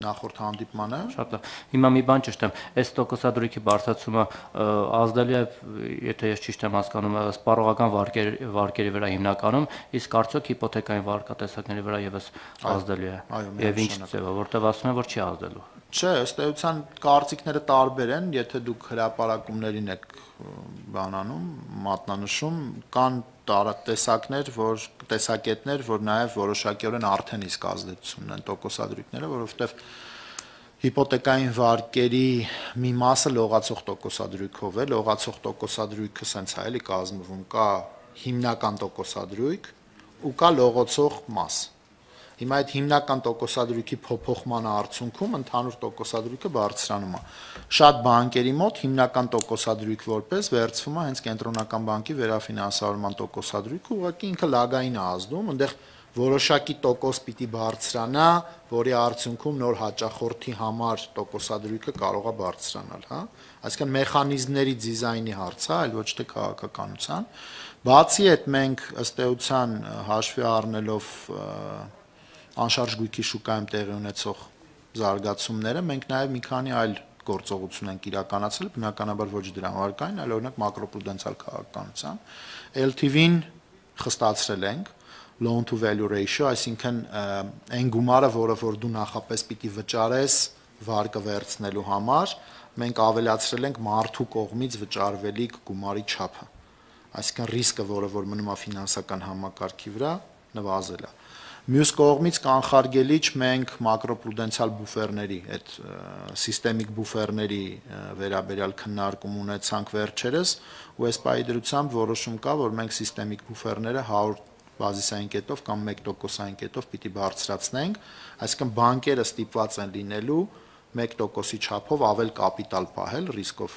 նախորդ հանդիպմանը։ Շատ լավ։ Հիմա մի բան ճշտեմ, այս տոկոսադրույքի բարձրացումը ազդելու է, եթե ես ճիշտ եմ հասկանում, սպառողական վարկերի վրա հիմնականում, իսկ արդյոք հիպոթեկային վարկատեսակների վրա եւս ազդելու է։ Եվ ինչ ձևով, որտեղ ասում են, որ չի ազդելու։ Չէ, ըստ էության կարծիքները տարբեր են, եթե դուք հրապարակումներին եք բանանում, մատնանշում, կան տեսակետներ, որ նաև որոշակիորեն արդեն իսկ ազդեցություն ունեն տոկոսադրույքները, որովհետև հիպոթեկային վարկերի մի մասը լողացող տոկոսադրույքով է, լողացող տոկոսադրույքը սենց է էլի կազմվում, կա հիմնական տոկոսադրույք ու կա լողացող մաս։ Հիմա այդ հիմնական տոկոսադրույքի փոփոխման արդյունքում ընդհանուր տոկոսադրույքը բարձրանում է։ Շատ բանկերի մոտ հիմնական տոկոսադրույք որպես վերցվում է հենց կենտրոնական բանկի վերաֆինանսավորման տոկոսադրույքը, ուղղակի ինքը լագային է ազդում, այնտեղ որոշակի տոկոս պիտի բարձրանա, որի արդյունքում նոր հաճախորդի համար տոկոսադրույքը կարող է բարձրանալ, հա։ Այսինքն մեխանիզմների դիզայնի հարց է, այլ ոչ թե քաղաքականության։ Բացի այդ մենք ըստ էության հաշվի առնելով անշարժ գույքի շուկայում տեղի ունեցող զարգացումները, մենք նաև մի քանի այլ գործողություն ենք իրականացրել, բնականաբար ոչ դրամարկային, այլ օրինակ մակրոպրուդենցիալ քաղաքականության։ LTV-ն խստացրել ենք, loan to value ratio, այսինքն այն գումարը, որը որ դու նախապես պիտի վճարես վարկը վերցնելու համար, մենք ավելացրել ենք մարդու կողմից վճարվելիք գումարի չափը։ Այսինքն ռիսկը, որը որ մնում է ֆինանսական համակարգի վրա, նվազել է։ Մյուս կողմից կանխարգելիչ մենք մակրոպրուդենցիալ բուֆերների, այդ սիստեմիկ բուֆերների վերաբերյալ քննարկում ունեցանք վերջերս, ու այս պահի դրությամբ որոշում կա, որ մենք սիստեմիկ բուֆերները 100 բազիսային կետով կամ 1%-ային կետով պիտի բարձրացնենք, այսինքն բանկերը ստիպված են լինելու 1%-ի չափով ավել կապիտալ պահել ռիսկով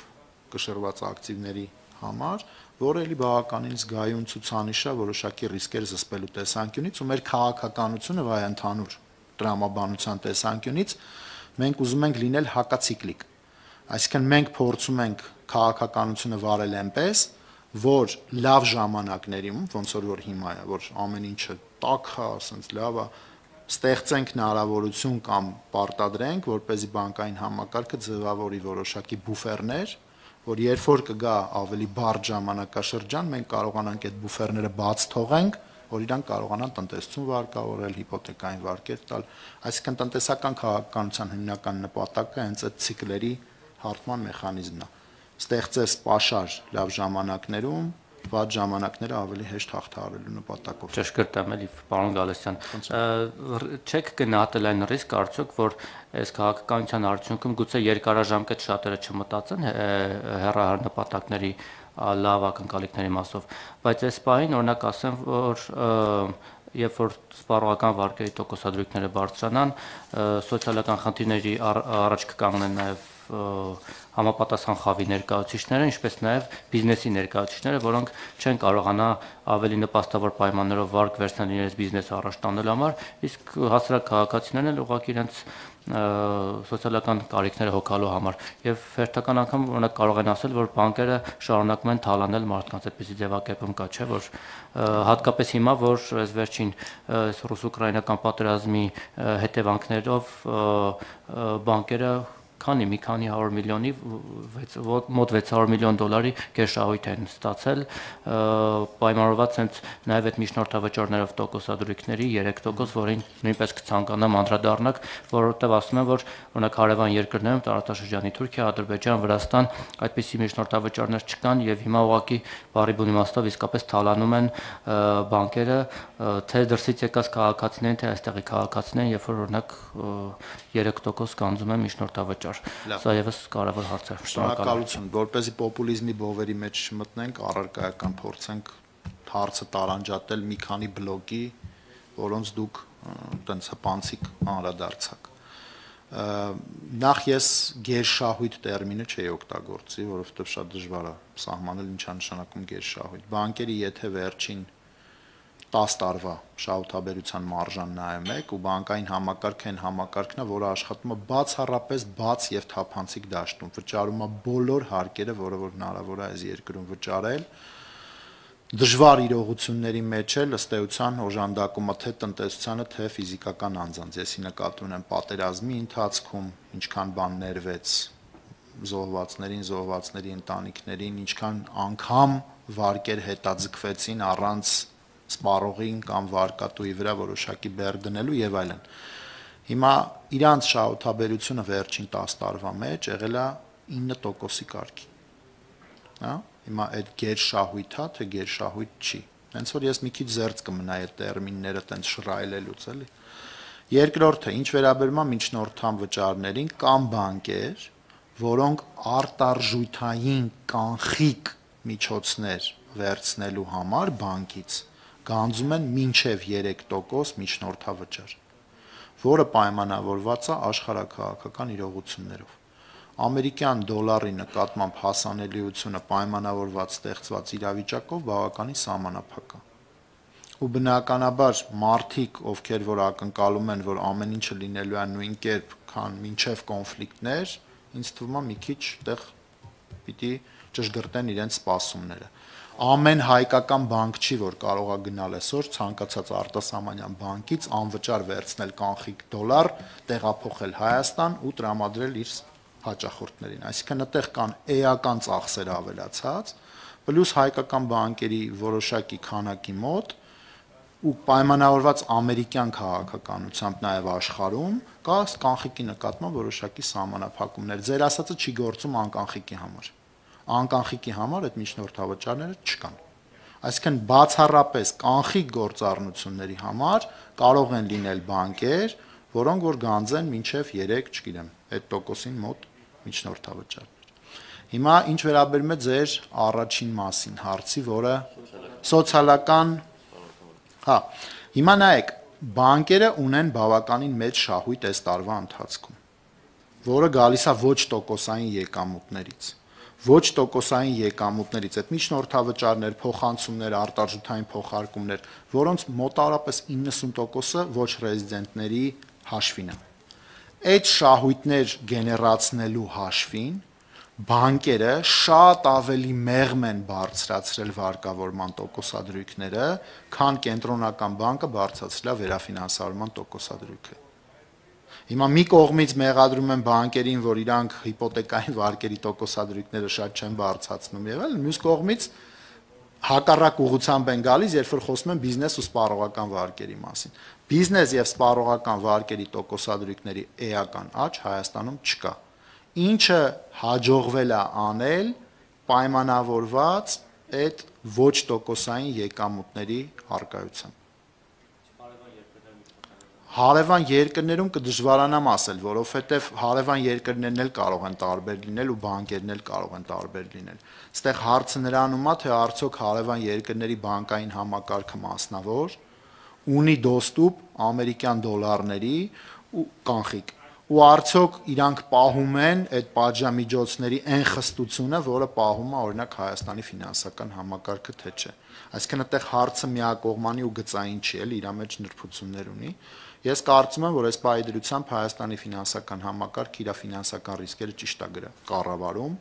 կշռված ակտիվների համար, որը էլի բավականին զգայուն ցուցանիշ է որոշակի ռիսկեր զսպելու տեսանկյունից, ու մեր քաղաքականությունը վայ ընդհանուր տրամաբանության տեսանկյունից մենք ուզում ենք լինել հակացիկլիկ։ Այսինքն մենք փորձում ենք քաղաքականությունը վարել այնպես, որ լավ ժամանակներում, ոնց որ հիմա է, որ ամեն ինչը տաք է, ասենց լավ է, ստեղծենք հնարավորություն կամ պարտադրենք, որպեսզի բանկային համակարգը ձևավորի որոշակի բուֆերներ, որ երբ որ կգա ավելի բարդ ժամանակաշրջան, մենք կարողանանք այդ բուֆերները բաց թողենք, որ իրանք կարողանան տնտեսություն վարկավորել, հիպոթեկային վարկեր տալ, այսինքն տնտեսական քաղաքականության հիմնական նպատակը հենց այդ ցիկլերի հարթման մեխանիզմն է։ Ստեղծես պաշար լավ ժամանակներում, վատ ժամանակները ավելի հեշտ հաղթահարելու նպատակով։ Ճշգրտ եմ, էլի, պարոն Գալստյան, չեք գնահատել այն ռիսկ արդյոք, որ այս քաղաքականության արդյունքում գուցե երկարաժամկետ շատերը չմտածեն հեռահար նպատակների լավ ակնկալիքների մասով, բայց այս պահին օրինակ ասեմ, որ երբ որ սպառողական վարկերի տոկոսադրույքները բարձրանան, սոցիալական խնդիրների առաջ կկանգնեն նաև համապատասխան խավի ներկայացուցիչները, ինչպես նաև բիզնեսի ներկայացուցիչները, որոնք չեն կարողանա ավելի նպաստավոր պայմաններով վարկ վերցնել իրենց բիզնեսը առաջ տանելու համար, իսկ հասարակ քաղաքացիներն էլ ուղղակի իրենց սոցիալական կարիքները հոգալու համար, եւ հերթական անգամ օրինակ կարող են ասել, որ բանկերը շարունակում են թալանել մարդկանց, այդպեսի ձևակերպում կա, չէ, որ հատկապես հիմա, որ այս վերջին ռուս-ուկրաինական պատերազմի հետևանքներով բանկերը մի քանի 100 միլիոնի մոտ 600 միլիոն դոլարի կեշահույթ են ստացել, պայմանավորված հենց նաև այդ միջնորդավճարներով տոկոսադրույքների 3%, որին նույնպես կցանկանամ անդրադառնալ, որովհետև ասում են, որ օրինակ հարևան երկրներում տարածաշրջանի Թուրքիա, Ադրբեջան, Վրաստան այդպիսի միջնորդավճարներ չկան եւ հիմա ուղղակի բարի բուն իմաստով իսկապես թալանում են բանկերը, թե դրսից եկած քաղաքացիներին, թե այստեղի քաղաքացիներին, երբ որ օրինակ 3% կանձում են միջնորդավճար։ Սա եւս կարևոր հարց է։ Շնորհակալություն, որպեսզի պոպուլիզմի բովերի մեջ չմտնենք, առարկայական փորձենք հարցը տարանջատել մի քանի բլոկի, որոնց դուք տենց հպանցիկ անդրադարձաք։ Նախ ես գերշահույթ տերմինը չէի օգտագործի, որովհետև շատ դժվար է սահմանել ինչա նշանակում գերշահույթ։ Բանկերի եթե վերջին 10 տարվա շահութաբերության մարժան նայում եք ու բանկային համակարգը այն համակարգն է, որը աշխատում է բացառապես բաց եւ թափանցիկ դաշտում, վճարում է բոլոր հարկերը, որը որ հնարավոր է այս երկրում վճարել, դժվար իրողությունների մեջ է ըստ էության օժանդակումը թե տնտեսությանը, թե ֆիզիկական անձանց։ Եսի նկատի ունեմ պատերազմի ընթացքում ինչքան բան ներվեց զոհվածների ընտանիքներին, ինչքան անգամ վարկեր հետաձգվեցին առանց սպառողին կամ վարկատուի վրա որոշակի բեռ դնելու եւ այլն։ Հիմա իրանց շահութաբերությունը վերջին 10 տարվա մեջ եղել է 9%-ի կարգի։ Հա? Հիմա այդ գերշահույթ է, թե գերշահույթ չի։ Հենց որ ես մի քիչ զերծ կմնայի այդ տերմինները տենց շռայլելուց, էլի։ Երկրորդը, ինչ վերաբերում է միջնորդամ վճարներին, կամ բանկեր, որոնք արտարժութային կանխիկ միջոցներ վերցնելու համար բանկից գանձում են մինչև 3% միջնորդավճար, որը պայմանավորված է աշխարհաքաղաքական իրողություններով։ Ամերիկյան դոլարի նկատմամբ հասանելիությունը պայմանավորված ստեղծված իրավիճակով բավականին սահմանափակ է։ Ու բնականաբար մարդիկ, ովքեր որ ակնկալում են, որ ամեն ինչը լինելու է նույն կերպ, քան մինչև կոնֆլիկտներ, ինձ թվում է մի քիչ այդտեղ պիտի ճշգրտեն իրենց սպասումները։ Ամեն հայկական բանկ չի, որ կարող է գնալ այսօր ցանկացած արտասահմանյան բանկից անվճար վերցնել կանխիկ դոլար, տեղափոխել Հայաստան ու տրամադրել իր հաճախորդներին, այսինքն այդտեղ կան էական ծախսեր ավելացած, պլյուս հայկական բանկերի որոշակի քանակի մոտ ու պայմանավորված ամերիկյան քաղաքականությամբ նաև աշխարհում կա կանխիկի նկատմամբ որոշակի սահմանափակումներ։ Ձեր ասածը չի գործում անկանխիկի համար։ Անկանխիկի համար այդ միջնորդավճարները չկան։ Այսինքն բացառապես կանխիկ գործառնությունների համար կարող են լինել բանկեր, որոնք որ գանձեն մինչև 3, չգիտեմ, այդ տոկոսին մոտ միջնորդավճարներ։ Հիմա ինչ վերաբերում է ձեր առաջին մասին հարցի, որը սոցիալական, հա, հիմա նայեք, բանկերը ունեն բավականին մեծ շահույթ այս տարվա ընթացքում, որը գալիս է ոչ տոկոսային եկամուտներից։ Ոչ տոկոսային եկամուտներից այդ միջնորդավճարներ, փոխանցումներ, արտարժութային փոխարկումներ, որոնց մոտավորապես 90%-ը ոչ ռեզիդենտների հաշվին է։ Այդ շահույթներ գեներացնելու հաշվին բանկերը շատ ավելի մեղմ են բարձրացրել վարկավորման տոկոսադրույքները, քան կենտրոնական բանկը բարձրացրել է վերաֆինանսավորման տոկոսադրույքը։ Հիմա մի կողմից մեղադրում են բանկերին, որ իրանք հիպոթեկային վարկերի տոկոսադրույքները շատ չեն բարձրացնում եղել, մյուս կողմից հակառակ ուղղությամբ են գալիս, երբ որ խոսում են բիզնես ու սպառողական վարկերի մասին։ Բիզնես եւ սպառողական վարկերի տոկոսադրույքների էական աճ Հայաստանում չկա։ Ինչը հաջողվել է անել պայմանավորված այդ ոչ տոկոսային եկամուտների առկայությամբ։ Հարևան երկրներում կդժվարանամ ասել, որովհետև հարևան երկրներն էլ կարող են տարբեր լինել ու բանկերն էլ կարող են տարբեր լինել։ Այստեղ հարցը նրանում է, թե արդյոք հարևան երկրների բանկային համակարգը մասնավոր ունի դոստուպ ամերիկյան դոլարների ու կանխիկ, ու արդյոք իրանք պահում են այդ պատժամիջոցների այն խստությունը, որը պահում է օրինակ Հայաստանի ֆինանսական համակարգը, թե չէ։ Այսինքն այդտեղ հարցը միակողմանի ու գծային չի, էլ իր մեջ նրբություններ ունի։ Ես կարծում եմ, որ այս պայդրությամբ Հայաստանի ֆինանսական համակարգը իր ֆինանսական ռիսկերը ճիշտ է կառավարում,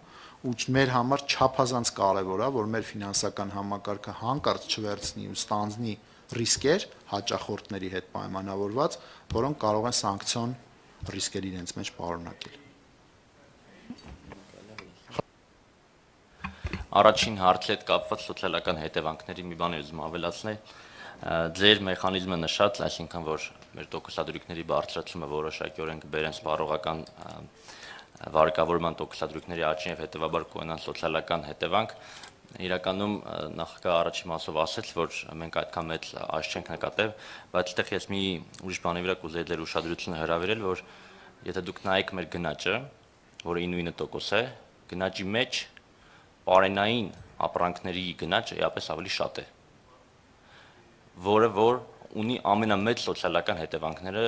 ու մեր համար չափազանց կարևոր է, որ մեր ֆինանսական համակարգը հանկարծ չվերցնի ու ստանձնի ռիսկեր հաճախորդների հետ պայմանավորված, որոնք կարող են սանկցիոն ռիսկեր իրենց մեջ պարունակել։ Առաջին հարցի հետ կապված սոցիալական հետևանքների մի բան ուզում ավելացնել։ Ձեր մեխանիզմը նշած, այսինքն որ մեր տոկոսադրույքների բարձրացումը որոշակիորեն կբերեն սպառողական վարկավորման տոկոսադրույքների աճին եւ հետեւաբար կունենան սոցիալական հետևանք։ Իրականում նախագահը առաջի մասով ասաց, որ մենք այդքան մեծ աճ չենք նկատել, բայց այդտեղ ես մի ուրիշ բանի վրա կուզեի դեր ուշադրությունը հրավիրել, որ եթե դուք նայեք մեր գնաճը, որը 99% է, գնաճի մեջ պարենային ապրանքների գնաճը էապես ավելի շատ է, որը որ ունի ամենամեծ սոցիալական հետևանքները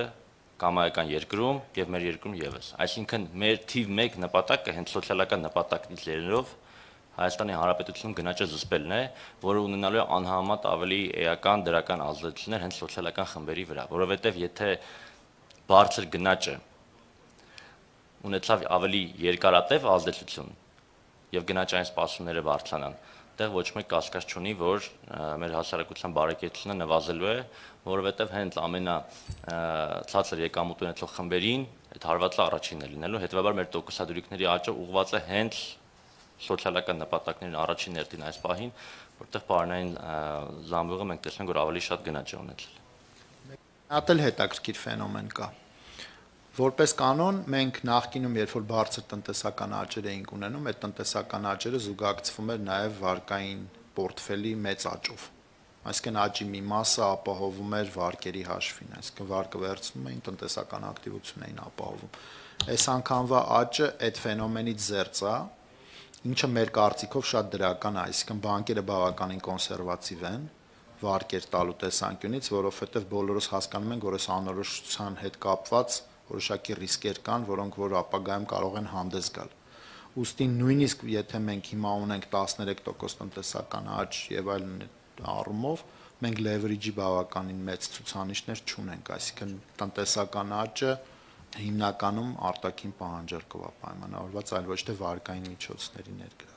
կամայական երկրում եւ մեր երկրում եւս։ Այսինքն մեր թիվ 1 նպատակը հենց սոցիալական նպատակից ելնելով Հայաստանի Հանրապետությունում գնաճը զսպելն է, որը ունենալու է անհամեմատ ավելի էական դրական ազդեցություններ հենց սոցիալական խմբերի վրա, որովհետեւ եթե բարձր գնաճը ունեցավ ավելի երկարատև ազդեցություն եւ գնաճային սպասումները բարձրանան, այդտեղ ոչ մեկ կասկած չունի, որ մեր հասարակության բարեկեցությունը նվազելու է, որովհետև հենց ցածր եկամուտ ունեցող խմբերին այդ հարվածը առաջինն է լինելու, հետևաբար մեր տոկոսադրույքների աճը ուղղված է հենց սոցիալական նպատակներին առաջին հերթին այս պահին, որտեղ պարոնային զամբյուղը մենք տեսնենք, որ ավելի շատ գնաճ է ունեցել։ Հատ էլ հետաքրքիր ֆենոմեն կա։ Որպես կանոն մենք նախկինում, երբ որ բարձր տնտեսական աճեր էինք ունենում, այդ տնտեսական աճերը զուգակցվում էր նաև վարկային պորտֆելի մեծ աճով։ Այսինքն աճի մի մասը ապահովում էր վարկերի հաշվին, այսինքն վարկը վերցնում էին, տնտեսական ակտիվություն էին ապահովում։ Այս անգամվա աճը այդ ֆենոմենից զերծ է, ինչը մեր կարծիքով շատ դրական է, այսինքն բանկերը բավականին կոնսերվատիվ են վարկեր տալու տեսանկյունից, որովհետև բոլորս հասկանում ենք, որ այս անորոշության հետ կապված որոշակի ռիսկեր կան, որոնք որ ապագայում կարող են հանդես գալ։ Ուստի նույնիսկ եթե մենք հիմա ունենք 13% տնտեսական աճ եւ այլն առումով, մենք leverage-ի բավականին մեծ ցուցանիշներ չունենք, այսինքն տնտեսական աճը հիմնականում արտաքին պահանջարկով է պայմանավորված, այլ ոչ թե վարկային միջոցների ներգրավով։